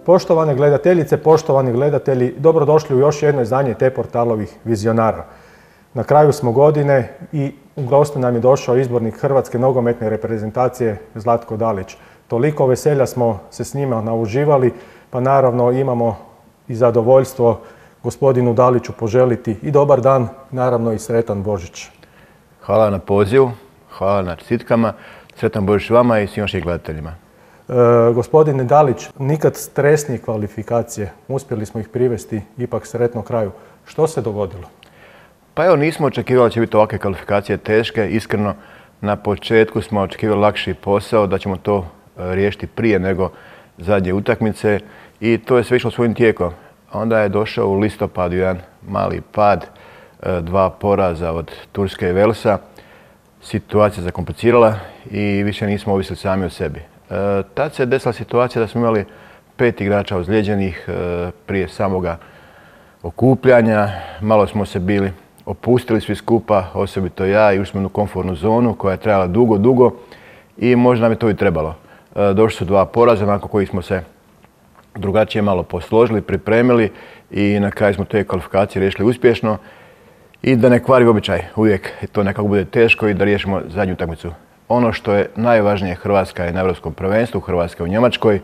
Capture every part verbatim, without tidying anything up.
Poštovane gledateljice, poštovani gledatelji, dobrodošli u još jedno izdanje T-portalovih vizionara. Na kraju smo godine i u gostu nam je došao izbornik Hrvatske nogometne reprezentacije Zlatko Dalić. Toliko veselja smo se s njima nauživali, pa naravno imamo i zadovoljstvo gospodinu Daliću poželiti i dobar dan, naravno i sretan Božić. Hvala na pozivu, hvala na čestitkama, sretan Božić vama i svim vašim gledateljima. E, gospodine Dalić, nikad stresnije kvalifikacije, uspjeli smo ih privesti ipak sretno kraju. Što se dogodilo? Pa evo, nismo očekivali da će biti ovakve kvalifikacije teške. Iskreno, na početku smo očekivali lakši posao, da ćemo to riješiti prije nego zadnje utakmice i to je sve išlo svojim tijekom. Onda je došao u listopadu jedan mali pad, dva poraza od Turske i Velsa. Situacija se zakomplicirala i više nismo ovisili sami o sebi. E, tad se desila situacija da smo imali pet igrača ozlijeđenih e, prije samoga okupljanja. Malo smo se bili opustili svi skupa, osobito ja, i ušli smo u komfortnu zonu koja je trajala dugo, dugo i možda nam je to i trebalo. E, došli su dva poraza nakon kojih smo se drugačije malo posložili, pripremili i na kraju smo te kvalifikacije riješili uspješno. I da ne kvari običaj, uvijek to nekako bude teško i da riješimo zadnju utakmicu. Ono što je najvažnije, Hrvatska je na Europskom prvenstvu, Hrvatska je u Njemačkoj.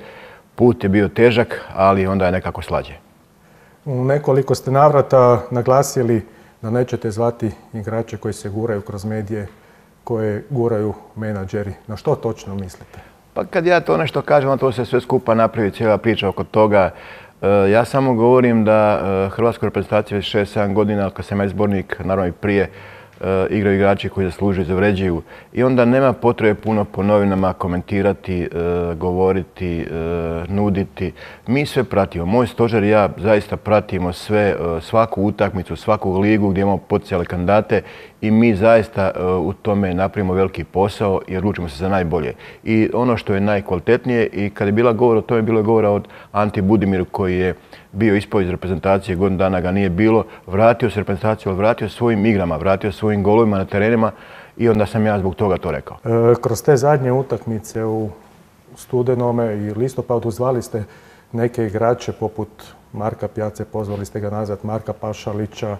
Put je bio težak, ali onda je nekako slađe. U nekoliko ste navrata naglasili da nećete zvati igrače koji se guraju kroz medije, koje guraju menadžeri. Na što točno mislite? Pa kad ja to nešto kažem, to se sve skupa napravi, cijela priča oko toga. Ja samo govorim da Hrvatska reprezentacija već šest sedam godina, kad sam ja izbornik, naravno i prije, igraju igrači koji zaslužuju i zavređuju. I onda nema potrebe puno po novinama komentirati, govoriti, nuditi. Mi sve pratimo. Moj stožer i ja zaista pratimo sve, svaku utakmicu, svaku ligu gdje imamo potencijalne kandidate i mi zaista u tome napravimo veliki posao i odlučimo se za najbolje. I ono što je najkvalitetnije, i kad je bila govor o tome, bilo je govora od Anti Budimiru koji je bio ispao iz reprezentacije, godinu dana ga nije bilo, vratio se reprezentaciju, ali vratio svojim igrama, vratio svojim golovima na terenima i onda sam ja zbog toga to rekao. E, kroz te zadnje utakmice u studenome i listopadu zvali ste neke igrače poput Marka Pjace, pozvali ste ga nazad, Marka Pašalića,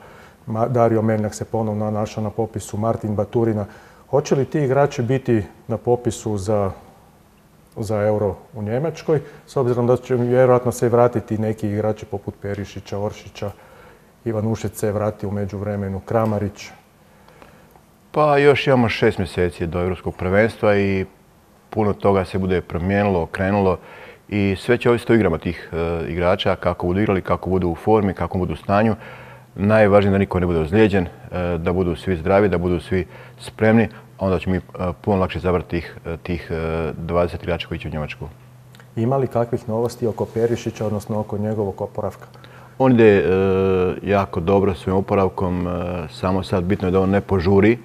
Dario Meljak se ponovno našao na popisu, Martin Baturina. Hoće li ti igrači biti na popisu za za Euro u Njemačkoj, s obzirom da će vjerojatno se vratiti neki igrači poput Perišića, Oršića, Ivan Ušec se vrati u međuvremenu, Kramarić? Pa još imamo šest mjeseci do Europskog prvenstva i puno toga se bude promijenilo, okrenulo i sve će ovisiti o igrama tih e, igrača, kako budu igrali, kako budu u formi, kako budu u stanju. Najvažnije je da niko ne bude ozlijeđen, e, da budu svi zdravi, da budu svi spremni. Onda će mi puno lakše zabrati tih, tih dvadeset igrača koji će u Njemačku. Ima li kakvih novosti oko Perišića, odnosno oko njegovog oporavka? On ide e, jako dobro svojim oporavkom, e, samo sad bitno je da on ne požuri,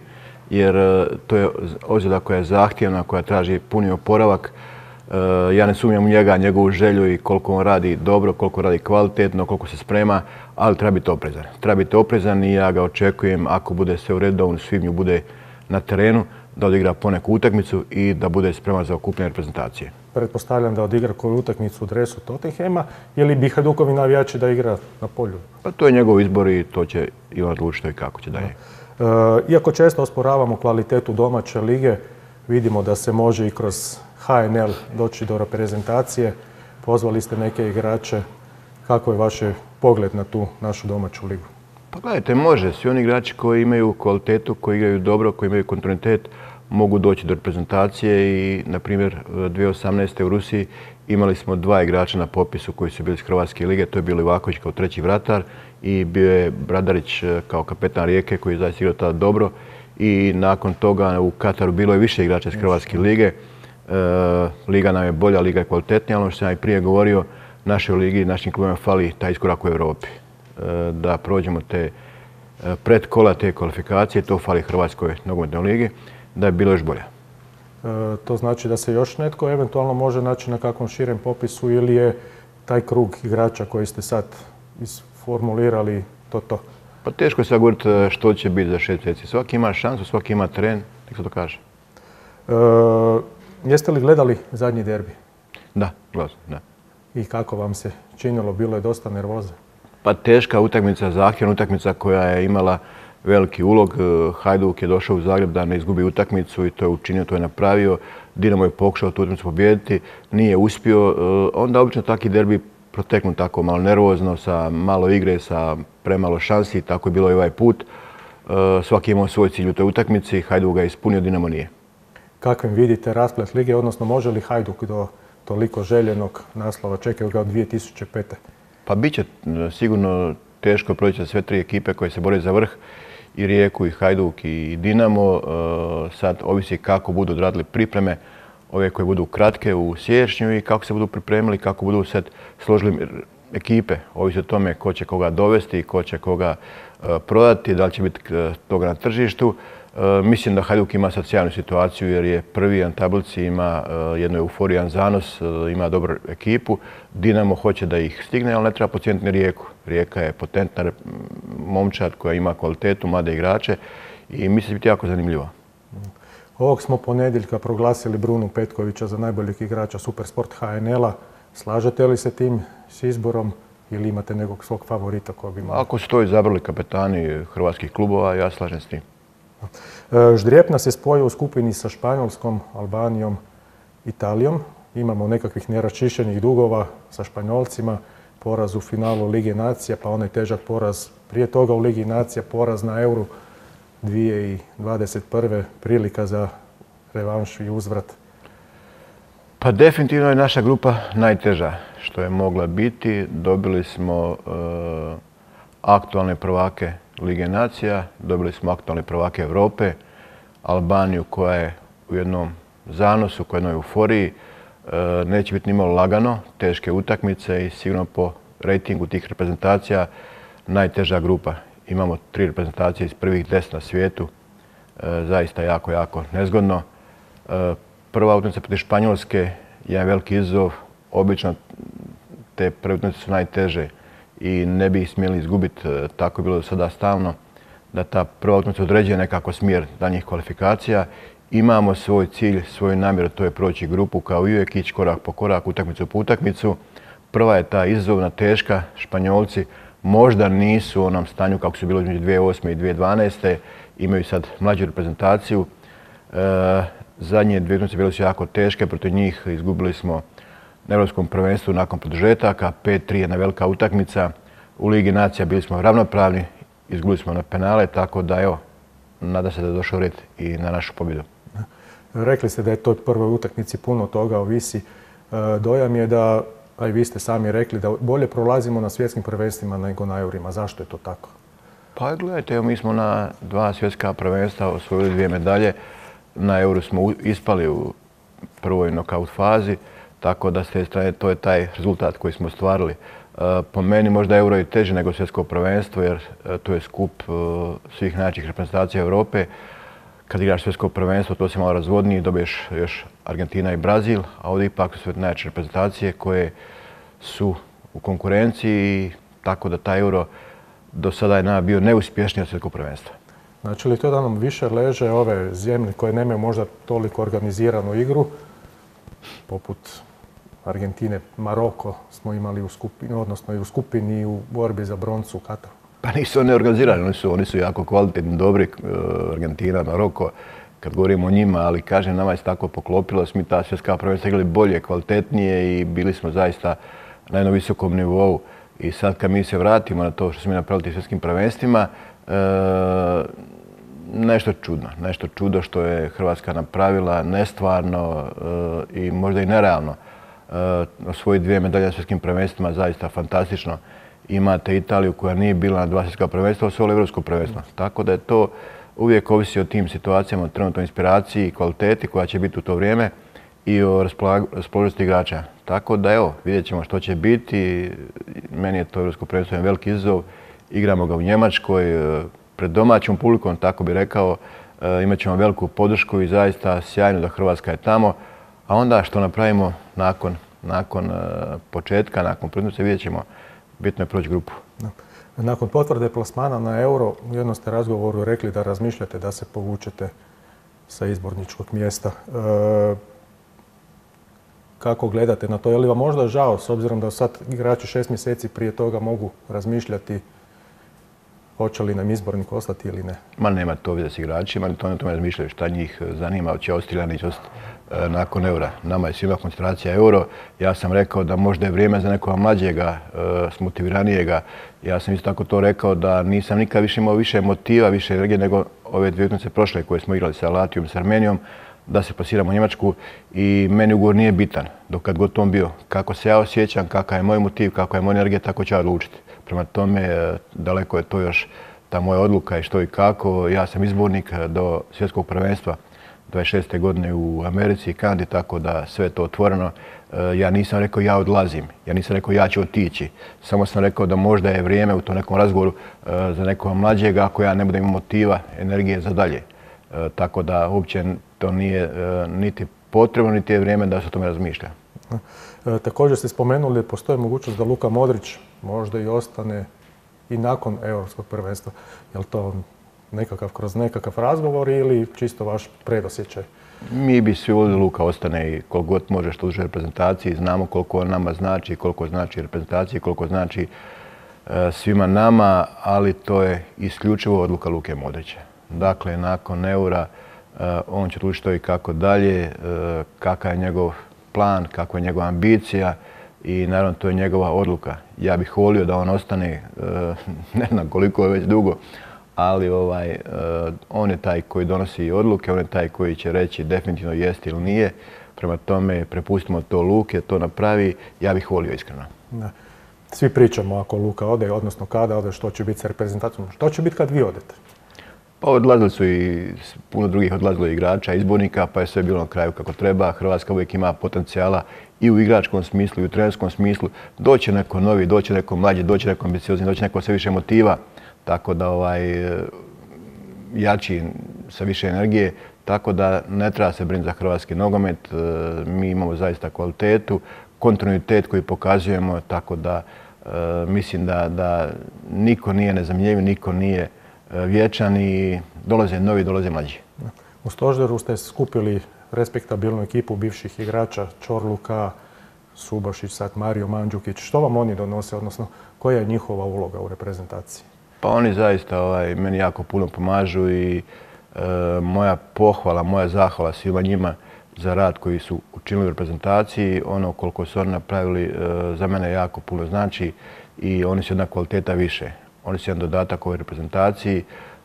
jer e, to je ozljeda koja je zahtjevna, koja traži puni oporavak. E, ja ne sumnjam u njega, njegovu želju i koliko on radi dobro, koliko radi kvalitetno, koliko se sprema, ali treba biti oprezan. Treba biti oprezan i ja ga očekujem, ako bude sve u redu, da on u svibnju bude na terenu, da odigra poneku utakmicu i da bude spreman za okupljanje reprezentacije. Pretpostavljam da odigra koju utakmicu u dresu Tottenhema ili bi Hajdukovi navijači da igra na polju? Pa to je njegov izbor i to će i on odlučiti i kako će dalje. E, iako često osporavamo kvalitetu domaće lige, vidimo da se može i kroz H N L doći do reprezentacije. Pozvali ste neke igrače. Kako je vaš pogled na tu našu domaću ligu? Pa gledajte, može. Svi oni igrači koji imaju kvalitetu, koji igraju dobro, koji imaju kontinuitet, mogu doći do reprezentacije i, na primjer, dvije tisuće osamnaeste. u Rusiji imali smo dva igrača na popisu koji su bili iz Hrvatske lige. To je bio Livaković kao treći vratar i bio je Bradarić kao kapetan Rijeke koji je zaista igrao tada dobro. I nakon toga u Kataru bilo je više igrača iz Hrvatske lige. E, liga nam je bolja, liga je kvalitetnija. Ono što sam ja i prije govorio, našoj ligi, našim klubima fali taj iskorak u Europi. Da prođemo te predkola, te kvalifikacije, to fali Hrvatskoj nogometnoj ligi, da je bilo još bolje. E, to znači da se još netko eventualno može naći na kakvom širem popisu ili je taj krug igrača koji ste sad isformulirali to to? Pa teško je sad govoriti što će biti za šest mjeseci. Svaki ima šansu, svaki ima teren, nek se to kaže. E, jeste li gledali zadnji derbi? Da, gledao sam, da. i kako vam se činilo? Bilo je dosta nervoze. Pa teška utakmica, zahtjevna utakmica koja je imala veliki ulog. Hajduk je došao u Zagreb da ne izgubi utakmicu i to je učinio, to je napravio. Dinamo je pokušao tu utakmicu pobijediti, nije uspio. Onda obično taki derbi proteknu tako malo nervozno, sa malo igre, sa premalo šansi. Tako je bilo i ovaj put. Svaki je imao svoj cilj u toj utakmici. Hajduk ga je ispunio, Dinamo nije. Kakvim vidite rasplet lige, odnosno može li Hajduk do toliko željenog naslova? Čekaju ga od dvije tisuće pete. Pa bit će sigurno teško proći za sve tri ekipe koje se bore za vrh. I Rijeku, i Hajduk, i Dinamo. Sad ovisi kako budu odradili pripreme, ove koje budu kratke u siječnju i kako se budu pripremili, kako budu sad složili ekipe. Ovisi o tome ko će koga dovesti, ko će koga prodati, da li će biti toga na tržištu. Mislim da Hajduk ima sad sjajnu situaciju jer je prvi na tablici, ima jednu euforiju, jedan zanos, ima dobru ekipu. Dinamo hoće da ih stigne, ali ne treba podcijeniti ni Rijeku. Rijeka je potentna momčad koja ima kvalitetu, mlade igrače i mislim da će biti jako zanimljivo. Ovog smo ponedjeljka proglasili Brunu Petkovića za najboljeg igrača Supersport H N L-a. Slažete li se tim s izborom ili imate nekog svog favorita koji bi imao? Ako su to izabrali kapetani hrvatskih klubova, ja slažem s tim. Ždrijep se spojio u skupini sa Španjolskom, Albanijom, Italijom. Imamo nekakvih neraščišćenih dugova sa Španjolcima, poraz u finalu Lige nacija, pa onaj težak poraz prije toga u Ligi nacija, poraz na Euru dvije tisuće dvadeset prve. Prilika za revanš i uzvrat. Pa definitivno je naša grupa najteža što je mogla biti. Dobili smo aktualne prvake Lige nacija, dobili smo aktualne prvake Europe, Albaniju koja je u jednom zanosu, koja je u jednoj euforiji. Neće biti nimalo lagano, teške utakmice i sigurno po rejtingu tih reprezentacija najteža grupa. Imamo tri reprezentacije iz prvih deset na svijetu, zaista jako, jako nezgodno. Prva utakmica protiv Španjolske je veliki izazov, obično te prve utakmice su najteže i ne bi ih smjeli izgubiti, tako je bilo do sada stalno, da ta prva utakmica određuje nekako smjer daljnjih kvalifikacija. Imamo svoj cilj, svoju namjeru, to je proći grupu kao i uvijek, ići korak po korak, utakmicu po utakmicu. Prva je ta izazovna, teška. Španjolci možda nisu u onom stanju kako su bilo između dvije tisuće osme i dvije tisuće dvanaeste. Imaju sad mlađu reprezentaciju. Zadnje dvije utakmice bile su jako teške, protiv njih izgubili smo na Europskom prvenstvu nakon produžetaka, pet tri jedna velika utakmica. U Ligi nacija bili smo ravnopravni, izgubili smo na penale, tako da evo, nadam se da je došao red i na našu pobjedu. Rekli ste da je toj prvoj utakmici puno toga ovisi. Dojam je da, a i vi ste sami rekli, da bolje prolazimo na svjetskim prvenstvima nego na Eurima. Zašto je to tako? Pa gledajte, mi smo na dva svjetska prvenstva osvojili dvije medalje. Na Euru smo ispali u prvoj nokaut fazi, tako da s te strane to je taj rezultat koji smo ostvarili. Po meni možda Euro je teže nego svjetsko prvenstvo jer to je skup svih najjačih reprezentacija Europe. Kad igraš svjetsko prvenstvo to se malo razvodnije, dobiješ još Argentina i Brazil, a ovdje ipak su sve najjače reprezentacije koje su u konkurenciji, tako da taj Euro do sada je bio neuspješniji od svjetskog prvenstva. Znači li to da nam više leže ove zemlje koje nemaju možda toliko organiziranu igru, poput Argentine, Maroko smo imali u skupini, odnosno i u skupini i u borbi za broncu u Kataru? Pa nisu oni organizirani, oni su, oni su jako kvalitetni, dobri, Argentina, Maroko, kad govorimo o njima, ali kažem, nama je se tako poklopilo, mi ta svjetska prvenstva igrali bolje, kvalitetnije i bili smo zaista na jednom visokom nivou. I sad kad mi se vratimo na to što smo mi napravili svjetskim prvenstvima, e, nešto čudno, nešto čudo što je Hrvatska napravila, nestvarno e, i možda i nerealno. E, osvojiti dvije medalje na svjetskim prvenstvima, zaista fantastično. Imate Italiju koja nije bila na dva svjetska prvenstva, osvojila evropsko prvenstvo. Tako da je to uvijek ovisi o tim situacijama, o trenutnoj inspiraciji i kvaliteti koja će biti u to vrijeme i o raspoloživosti igrača. Tako da evo, vidjet ćemo što će biti. Meni je to evropsko prvenstvo jedan veliki izazov. Igramo ga u Njemačkoj, pred domaćom publikom, tako bi rekao. Imat ćemo veliku podršku i zaista sjajno da Hrvatska je tamo. A onda što napravimo nakon, nakon početka, nakon prvenstva, vidjet ćemo. Bitno je proći grupu. Nakon potvrde plasmana na Euro, u jednom ste razgovoru rekli da razmišljate da se povučete sa izborničkog mjesta. E, kako gledate na to? Je li vam možda žao, s obzirom da sad igrači šest mjeseci prije toga mogu razmišljati hoće li nam izbornik ostati ili ne? Ma nema to veze s igračima, ni to ne tome razmišljaju šta njih zanima, hoće ostati ili neće ostati nakon eura. Nama je svima koncentracija euro. Ja sam rekao da možda je vrijeme za nekoga mlađega, smotiviranijega. Ja sam isto tako to rekao da nisam nikad više imao više motiva, više energije nego ove dvije utakmice prošle koje smo igrali sa Latvijom i s Armenijom, da se plasiramo u Njemačku i meni ugovor nije bitan dok kad god on bio. Kako se ja osjećam, kakav je moj motiv, kakva je moja energija, tako ću ja odlučiti. Prema tome, daleko je to još ta moja odluka i što i kako. Ja sam izbornik do svjetskog prvenstva dvadeset šeste godine u Americi i Kanadi, tako da sve je to otvoreno. Ja nisam rekao ja odlazim, ja nisam rekao ja ću otići. Samo sam rekao da možda je vrijeme u tom nekom razgovoru za nekoga mlađega ako ja ne budem imao motiva, energije za dalje. Tako da uopće to nije niti potrebno, niti je vrijeme da se o tome razmišlja. Također ste spomenuli da postoji mogućnost da Luka Modrić možda i ostane i nakon europskog prvenstva. Je li to nekakav, kroz nekakav razgovor ili čisto vaš predosjećaj? Mi bi svi voljeli da Luka ostane i koliko god može što duže reprezentaciji. Znamo koliko on nama znači, koliko znači reprezentaciji, koliko znači svima nama, ali to je isključivo odluka Luke Modrića. Dakle, nakon eura on će odlučiti što i kako dalje, kakav je njegov plan, kakva je njegova ambicija i naravno to je njegova odluka. Ja bih volio da on ostane, ne znam koliko je već dugo, ali ovaj, on je taj koji donosi odluke, on je taj koji će reći definitivno jest ili nije. Prema tome, prepustimo to Luke, to napravi. Ja bih volio iskreno. Da. Svi pričamo ako Luka ode, odnosno kada ode, što će biti sa reprezentacijom. Što će biti kad vi odete? Pa odlazili su i puno drugih odlazilo igrača, izbornika, pa je sve bilo na kraju kako treba. Hrvatska uvijek ima potencijala i u igračkom smislu i u trenerskom smislu. Doće neko novi, doće neko mlađi, doće neko ambiciozni, doće neko sve više motiva. Tako da ovaj, jači sa više energije, tako da ne treba se brinuti za hrvatski nogomet. Mi imamo zaista kvalitetu, kontinuitet koji pokazujemo, tako da mislim da, da niko nije nezamjenjiv, niko nije vječan i dolaze novi, dolaze mlađi. U stožeru ste skupili respektabilnu ekipu bivših igrača, Čorluka, Subašić, sad Mario Mandžukić. Što vam oni donose, odnosno koja je njihova uloga u reprezentaciji? Pa oni zaista ovaj, meni jako puno pomažu i e, moja pohvala, moja zahvala svima njima za rad koji su učinili u reprezentaciji. Ono koliko su oni napravili e, za mene jako puno znači i oni su jedna kvaliteta više. Oni su jedan dodatak ovoj reprezentaciji.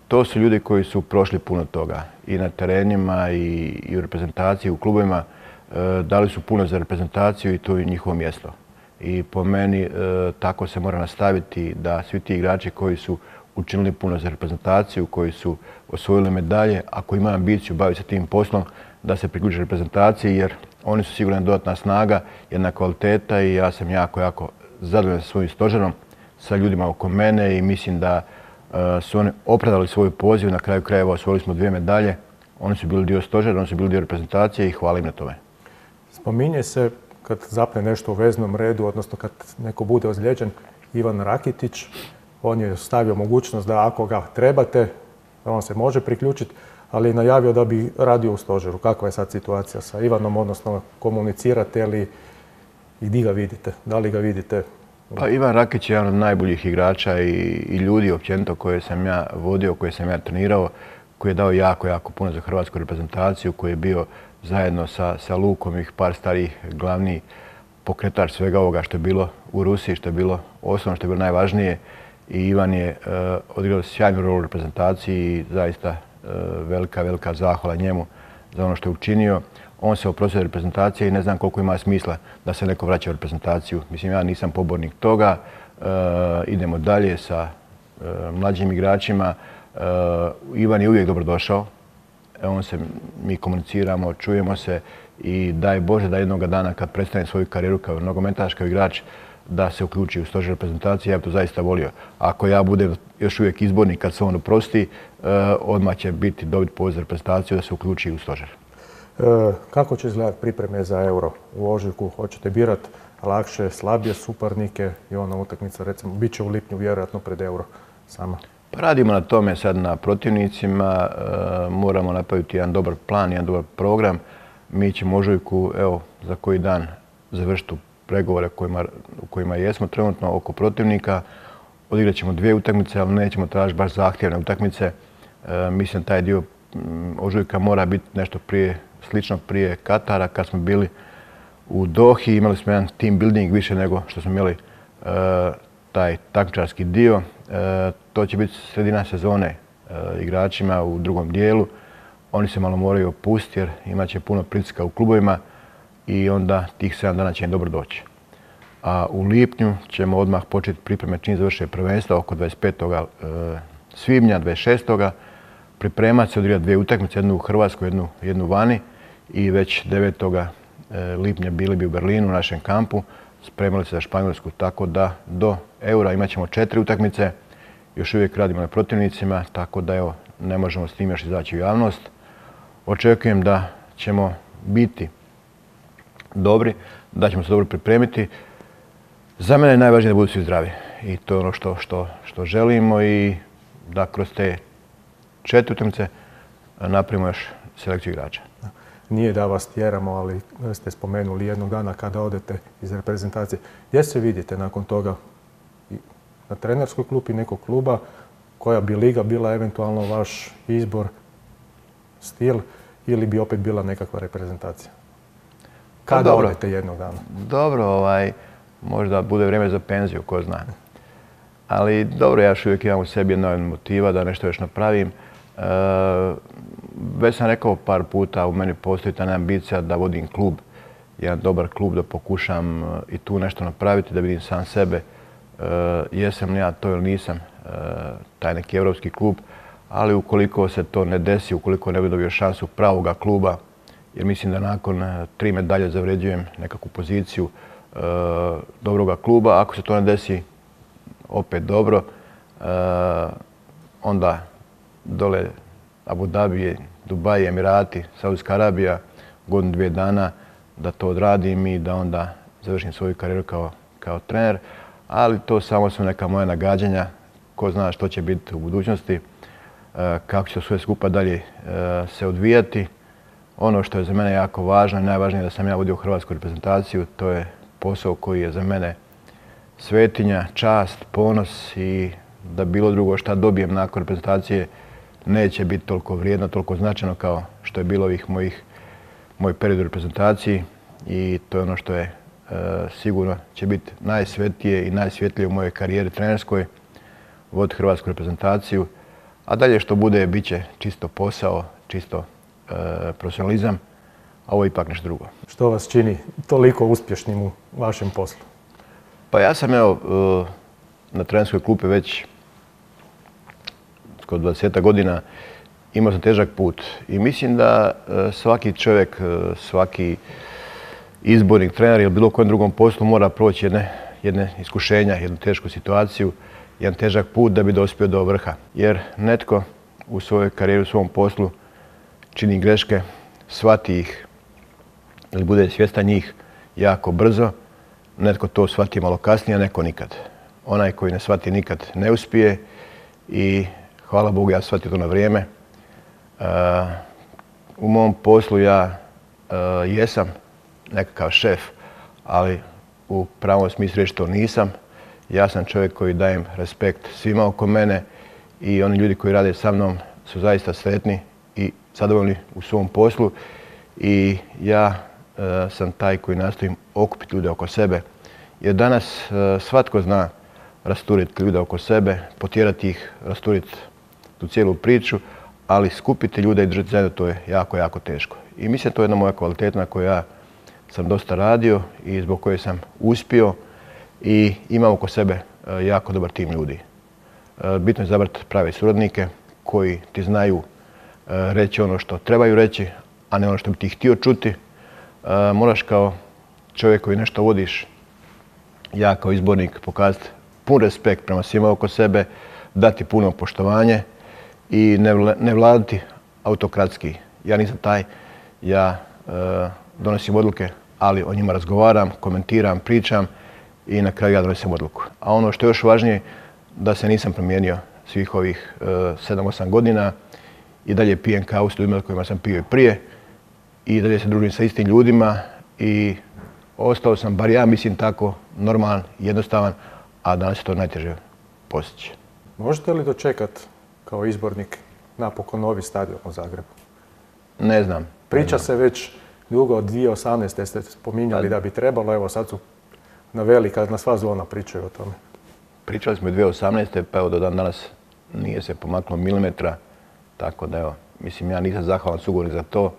To su ljudi koji su prošli puno toga i na terenima i, i u reprezentaciji, u klubovima. E, dali su puno za reprezentaciju i to je njihovo mjesto. I po meni e, tako se mora nastaviti da svi ti igrači koji su učinili puno za reprezentaciju, koji su osvojili medalje, ako imaju ambiciju baviti se tim poslom, da se priključe reprezentaciji jer oni su sigurno dodatna snaga, jedna kvaliteta i ja sam jako, jako zadovoljan sa svojim stožerom, sa ljudima oko mene i mislim da uh, su oni opravdali svoj poziv. Na kraju krajeva osvojili smo dvije medalje. Oni su bili dio stožera, oni su bili dio reprezentacije i hvala im na tome. Spominje se kad zapne nešto u veznom redu, odnosno kad neko bude ozlijeđen, Ivan Rakitić. On je stavio mogućnost da ako ga trebate, on se može priključiti, ali je najavio da bi radio u stožeru. Kakva je sad situacija sa Ivanom, odnosno komunicirate li i gdje ga vidite? Da li ga vidite? Pa Ivan Rakić je jedan od najboljih igrača i, i ljudi općenito koje sam ja vodio, koje sam ja trenirao, koji je dao jako, jako puno za hrvatsku reprezentaciju, koji je bio zajedno sa, sa Lukom i par starih glavni pokretač svega ovoga što je bilo u Rusiji, što je bilo osnovno, što je bilo najvažnije. I Ivan je uh, odigrao sjajnu rolu u reprezentaciji i zaista uh, velika, velika zahvala njemu za ono što je učinio. On se oprostio od reprezentacije i ne znam koliko ima smisla da se neko vraća u reprezentaciju. Mislim, ja nisam pobornik toga. Uh, idemo dalje sa uh, mlađim igračima. Uh, Ivan je uvijek dobrodošao. On se, mi komuniciramo, čujemo se i daj Bože da jednoga dana kad prestane svoju karijeru kao nogometaš, kao igrač, da se uključi u stožer reprezentacije. Ja bih to zaista volio. Ako ja budem još uvijek izbornik kad se on oprosti, uh, odmah će biti dobiti poziv za reprezentaciju da se uključi u stožer. Kako će izgledati pripreme za euro u ožujku? Hoćete birati lakše, slabije suparnike i ona utakmica, recimo, bit će u lipnju vjerojatno pred euro sama? Pa radimo na tome sad na protivnicima, moramo napraviti jedan dobar plan, jedan dobar program. Mi ćemo u ožujku, evo, za koji dan završiti pregovore u kojima jesmo trenutno oko protivnika. Odigrat ćemo dvije utakmice, ali nećemo tražiti baš zahtjevne utakmice. Mislim da taj dio ožujka mora biti nešto prije, slično prije Katara, kad smo bili u Dohi. Imali smo jedan team building više nego što smo imali taj takmičarski dio. To će biti sredina sezone igračima u drugom dijelu. Oni se malo moraju opustiti jer imat će puno pritiska u klubovima i onda tih sedam dana će im dobro doći. A u lipnju ćemo odmah početi pripreme čim završe prvenstva oko dvadeset petog svibnja, dvadeset šestog pripremati se, odigrati dvije utakmice, jednu u Hrvatskoj, jednu, jednu vani i već devetog lipnja bili bi u Berlinu u našem kampu, spremali se za Španjolsku, tako da do Eura imat ćemo četiri utakmice, još uvijek radimo na protivnicima, tako da evo, ne možemo s tim još izaći u javnost. Očekujem da ćemo biti dobri, da ćemo se dobro pripremiti. Za mene je najvažnije da budu svi zdravi i to je ono što, što, što želimo i da kroz te četiri utakmice napravimo još selekciju igrača. Nije da vas tjeramo, ali ste spomenuli jednog dana kada odete iz reprezentacije. Gdje se vidite nakon toga? Na trenerskoj klupi nekog kluba? Koja bi liga bila eventualno vaš izbor, stil ili bi opet bila nekakva reprezentacija? Kada odete jednog dana? Dobro, ovaj, možda bude vrijeme za penziju, ko zna. Ali dobro, ja još uvijek imam u sebi jedna motiva da nešto još napravim. E, već sam rekao par puta, u meni postoji ta ambicija da vodim klub, jedan dobar klub, da pokušam i tu nešto napraviti, da vidim sam sebe. E, jesam li ja to ili nisam, e, taj neki evropski klub, ali ukoliko se to ne desi, ukoliko ne bi dobio šansu pravoga kluba, jer mislim da nakon tri medalje zavređujem nekakvu poziciju e, dobroga kluba. Ako se to ne desi, opet dobro. E, onda dole Abu Dhabi, Dubai, Emirati, Saudijska Arabija, godinu, dvije dana da to odradim i da onda završim svoju karijeru kao, kao trener. Ali to samo su neka moja nagađanja. Ko zna što će biti u budućnosti, e, kako će sve skupa dalje e, se odvijati. Ono što je za mene jako važno i najvažnije je da sam ja vodio hrvatsku reprezentaciju. To je posao koji je za mene svetinja, čast, ponos i da bilo drugo šta dobijem nakon reprezentacije neće biti toliko vrijedno, toliko značajno kao što je bilo ovih mojih, moj period u reprezentaciji i to je ono što je e, sigurno će biti najsvetije i najsvjetlije u mojoj karijeri trenerskoj, voditi hrvatsku reprezentaciju, a dalje što bude bit će čisto posao, čisto e, profesionalizam, a ovo je ipak nešto drugo. Što vas čini toliko uspješnim u vašem poslu? Pa ja sam evo na trenerskoj klupi već skoro dvadeset godina, imao sam težak put i mislim da svaki čovjek, svaki izbornik, trener ili bilo kojem drugom poslu mora proći jedne, jedne iskušenja, jednu tešku situaciju, jedan težak put da bi dospio do vrha. Jer netko u svojoj karijeri, u svom poslu čini greške, shvati ih ili bude svjestan njih jako brzo. Netko to shvati malo kasnije, a neko nikad. Onaj koji ne shvati nikad ne uspije i hvala Bogu ja shvatio to na vrijeme. Uh, u mom poslu ja uh, jesam nekakav šef, ali u pravom smislu reći to nisam. Ja sam čovjek koji dajem respekt svima oko mene i oni ljudi koji rade sa mnom su zaista sretni i zadovoljni u svom poslu i ja uh, sam taj koji nastojim okupiti ljude oko sebe. Jer danas uh, svatko zna rasturiti ljude oko sebe, potjerati ih, rasturiti tu cijelu priču, ali skupiti ljude i držati zajedno to je jako, jako teško. I mislim da to je jedna moja kvaliteta na kojoj ja sam dosta radio i zbog koje sam uspio i imam oko sebe uh, jako dobar tim ljudi. Uh, bitno je izabrati prave suradnike koji ti znaju uh, reći ono što trebaju reći, a ne ono što bi ti htio čuti. Uh, moraš kao čovjek koji nešto vodiš, ja kao izbornik pokazati pun respekt prema svima oko sebe, dati puno poštovanje i ne, ne vladati autokratski. Ja nisam taj, ja e, donosim odluke, ali o njima razgovaram, komentiram, pričam i na kraju ja donosim odluku. A ono što je još važnije, da se nisam promijenio svih ovih sedam osam godina i dalje pijem kavu s ljudima kojima sam pio i prije i dalje se družim sa istim ljudima i ostao sam, bar ja mislim tako, normalan, jednostavan, a danas je to najteže postići. Možete li dočekati kao izbornik napokon novi stadion u Zagrebu? Ne znam. Priča se već dugo, od dvije tisuće osamnaeste. ste spominjali da bi trebalo, evo sad su na velika, na sva zvona pričaju o tome. Pričali smo i dvije tisuće osamnaeste. pa evo do dan danas nije se pomaklo milimetra, tako da evo, mislim ja nisam zahvalan sugovornik za to,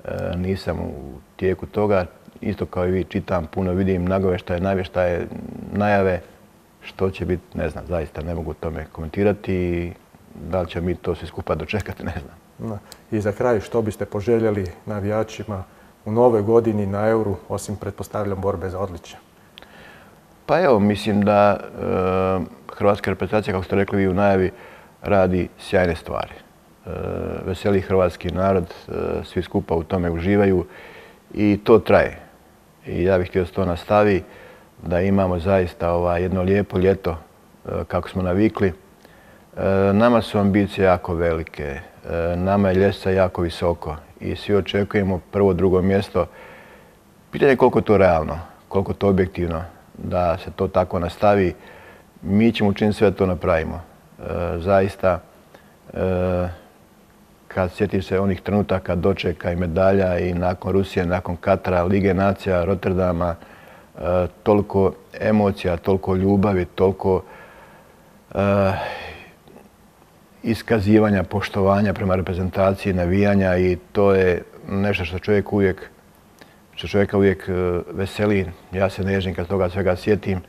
e, nisam u tijeku toga, isto kao i vi čitam, puno vidim nagoveštaje, navještaje, najave, što će biti, ne znam, zaista ne mogu o tome komentirati i da li će mi to sve skupa dočekati, ne znam. I za kraj, što biste poželjeli navijačima u novoj godini na Euru, osim pretpostavljam borbe za odličje? Pa evo, mislim da e, hrvatska reprezentacija, kako ste rekli vi u najavi, radi sjajne stvari. E, veseli hrvatski narod, e, svi skupa u tome uživaju i to traje. I ja bih htio da se to nastavi, da imamo zaista ovaj, jedno lijepo ljeto e, kako smo navikli. E, nama su ambicije jako velike, e, nama je ljestvica jako visoko i svi očekujemo prvo, drugo mjesto. Pitanje je koliko je to realno, koliko je to objektivno da se to tako nastavi. Mi ćemo učiniti sve da to napravimo. E, zaista, e, kad sjetim se onih trenutaka dočeka i medalja i nakon Rusije, nakon Katara, Lige nacija, Rotterdama, e, toliko emocija, toliko ljubavi, toliko e, iskazivanja, poštovanja prema reprezentaciji, navijanja i to je nešto što čovjek uvijek, što čovjeka uvijek veseli. Ja se nežnim kad toga svega sjetim.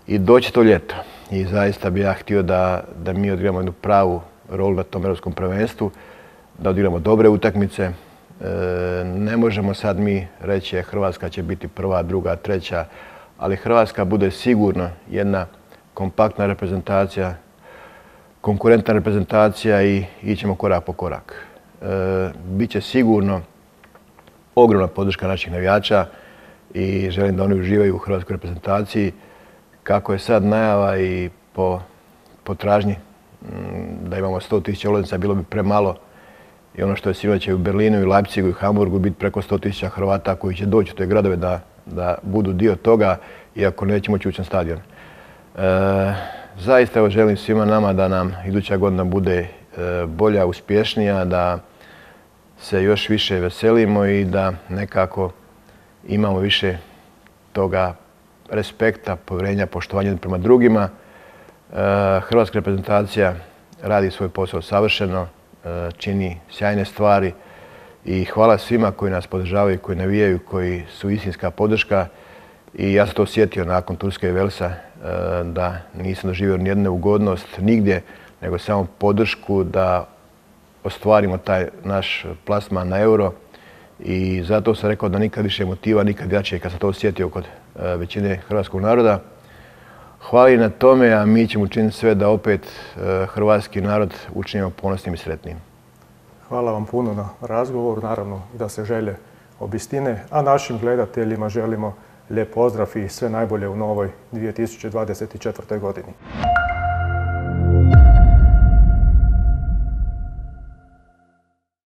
I doći to ljeto. I zaista bi ja htio da, da mi odigramo jednu pravu rolu na tom europskom prvenstvu, da odigramo dobre utakmice. E, ne možemo sad mi reći je Hrvatska će biti prva, druga, treća, ali Hrvatska bude sigurno jedna kompaktna reprezentacija, konkurentna reprezentacija i ićemo korak po korak. E, Biće sigurno ogromna podrška naših navijača i želim da oni uživaju u hrvatskoj reprezentaciji. Kako je sad najava i po potražnji da imamo sto tisuća ulaznica, bilo bi premalo. I ono što je sinoć u Berlinu i Leipzigu i Hamburgu biti preko sto tisuća Hrvata koji će doći u te gradove da, da budu dio toga, iako neće moći ući na stadion. E, zaista evo želim svima nama da nam iduća godina bude e, bolja, uspješnija, da se još više veselimo i da nekako imamo više toga respekta, povjerenja, poštovanja prema drugima. Hrvatska reprezentacija radi svoj posao savršeno, čini sjajne stvari i hvala svima koji nas podržavaju, koji navijaju, koji su istinska podrška. I ja sam to osjetio nakon Turske i Velsa, da nisam doživio nijednu neugodnost nigdje, nego samo podršku da ostvarimo taj naš plasman na Euro. I zato sam rekao da nikad više motiva, nikad jače kad sam to osjetio kod većine hrvatskog naroda. Hvala i na tome, a mi ćemo učiniti sve da opet hrvatski narod učinimo ponosnim i sretnim. Hvala vam puno na razgovoru, naravno da se želje obistine, a našim gledateljima želimo lijep pozdrav i sve najbolje u novoj dvije tisuće dvadeset četvrtoj godini.